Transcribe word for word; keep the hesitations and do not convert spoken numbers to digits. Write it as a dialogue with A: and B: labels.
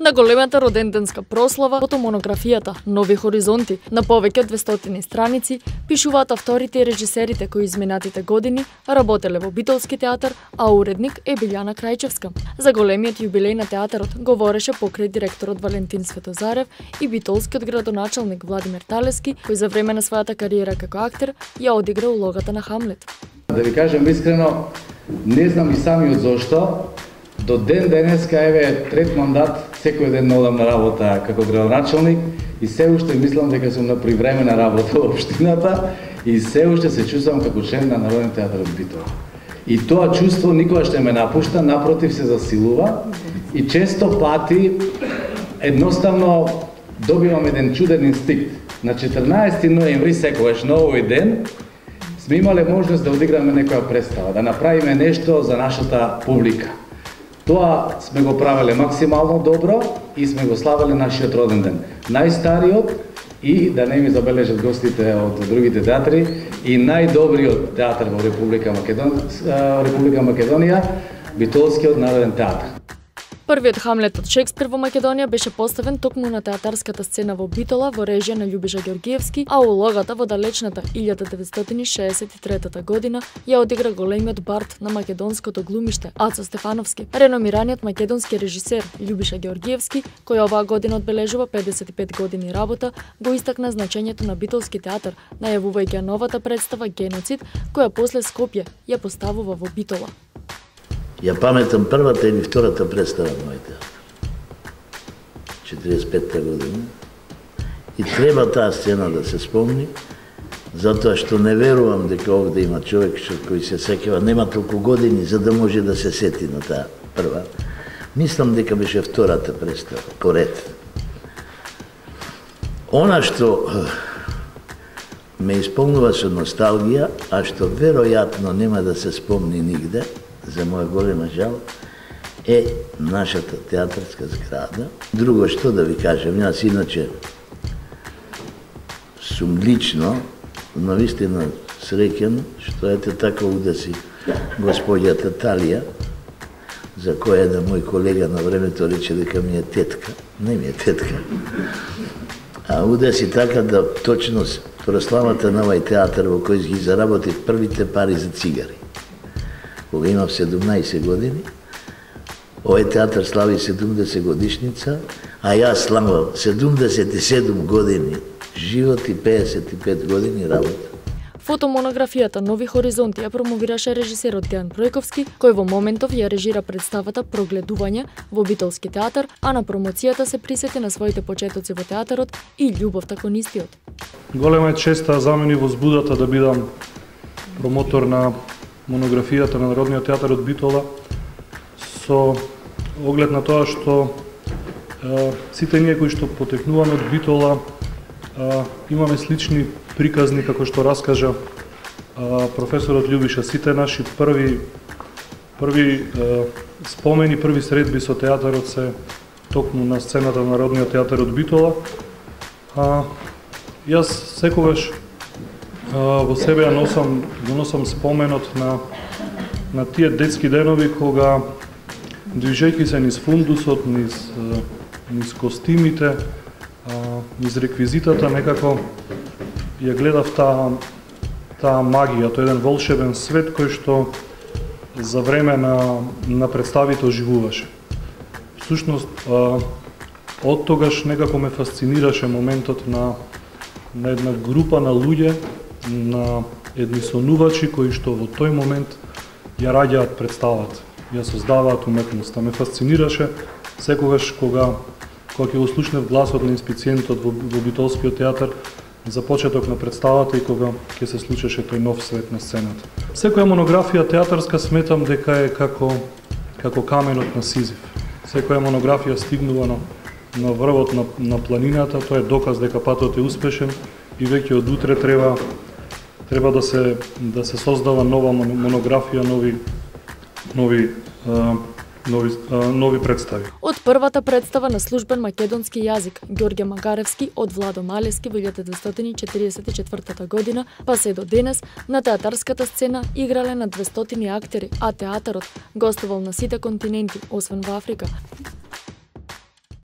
A: На големата роденденска прослава, фотомонографијата Нови хоризонти на повеќе од двестотини страници, пишуваат авторите и режисерите кои изминатите години работеле во Битолски театар, а уредник е Билјана Крајчевска. За големиот јубилеј на театарот говореше покрај директорот Валентин Светозарев и битолскиот градоначалник Владимир Талески, кој за време на својата кариера како актер ја одигра улогата на Хамлет.
B: Да ви кажем искрено, не знам и самиот зошто, до ден денеска, еве, трет мандат, секој ден одам на работа како градоначалник и се уште мислам дека сум на привремена работа во општината и се уште се чувствам како член на Народниот театар од Битола. И тоа чувство никогаш не ме напушта, напротив се засилува и често пати едноставно добивам еден чуден инстинкт. На четрнаесети ноември секогаш на овој ден сме имале можност да одиграме некоја представа, да направиме нешто за нашата публика. Тоа сме го правеле максимално добро и сме го славеле нашиот роден ден. Најстариот и, да не ми забележат гостите од другите театри, и најдобриот театар во Република Македонија, Република Македонија, Битолскиот народен театар.
A: Првиот Хамлет од Шекспир во Македонија беше поставен токму на театарската сцена во Битола во режија на Љубиша Ѓоргиевски, а улогата во далечната илјада деветстотини шеесет и трета година ја одигра големиот бард на македонското глумиште Ацо Стефановски. Реномираниот македонски режисер Љубиша Ѓоргиевски, кој оваа година одбележува педесет и пет години работа, го истакна значењето на Битолски театар, најавувајќи новата представа Геноцид, која после Скопје ја поставува во Битола.
C: Ја паметам првата или втората представа на мој театар. четириесет и петта година. И треба таа сцена да се спомни, затоа што не верувам дека овде има човек кој се сеќава, нема толку години за да може да се сети на таа прва. Мислам дека беше втората представа, поред. Она што ме исполнува со носталгија, а што веројатно нема да се спомни нигде, за моја голема жал, е нашата театарска зграда. Друго што да ви кажем, јас иначе сум лично, но вистина среќен, што ете така удаси господјата Талија, за која еден мој колега на времето рече дека ми е тетка. Не ми е тетка. А удаси така да точно прославата на овој театар во кој ги заработив првите пари за цигари. Кога имав седумнаесет години, овој театар слави седумдесет годишница, а јас славам седумдесет и седум години живот и педесет и пет години работа.
A: Фотомонографијата Нови хоризонти ја промовираше режисерот Дејан Пројковски, кој во моментов ја режира представата Прогледување во Битолски театар, а на промоцијата се присети на своите почетоци во театарот и љубовта кон истиот.
D: Голема е честа за мене возбудата да бидам промотор на монографијата на Народниот театар од Битола, со оглед на тоа што е, сите ние кои што потекнуваме од Битола е, имаме слични приказни, како што раскажа е, професорот Љубиша. Сите наши први први е, спомени, први средби со театарот се токму на сцената на Народниот театар од Битола. А, јас секогаш во себе ја носам, го носам споменот на, на тие детски денови кога, движејќи се низ фундусот, низ, низ костимите, низ реквизитата, некако ја гледав таа, таа магија, тој еден волшебен свет кој што за време на, на представите оживуваше. Всушност, од тогаш некако ме фасцинираше моментот на, на една група на луѓе, на едни сонувачи кои што во тој момент ја раѓаат представата, ја создаваат уметноста. Ме фасцинираше секогаш кога кога ќе го слушнев гласот на инспициентот во, во Битолскиот театар за почеток на представата и кога ќе се случеше тој нов свет на сцената. Секоја монографија театарска сметам дека е како како каменот на Сизиф. Секоја монографија стигнува на, на врвот на, на планината, тоа е доказ дека патот е успешен и веќе од утре треба треба да се да се создава нова монографија, нови нови а, нови а, нови представи.
A: Од првата представа на службен македонски јазик Ѓорѓе Магаревски од Владо Малевски во илјада деветстотини четириесет и четвртата година, па се до денес на театарската сцена играле на двестотини актери, а театарот гостувал на сите континенти, освен во Африка.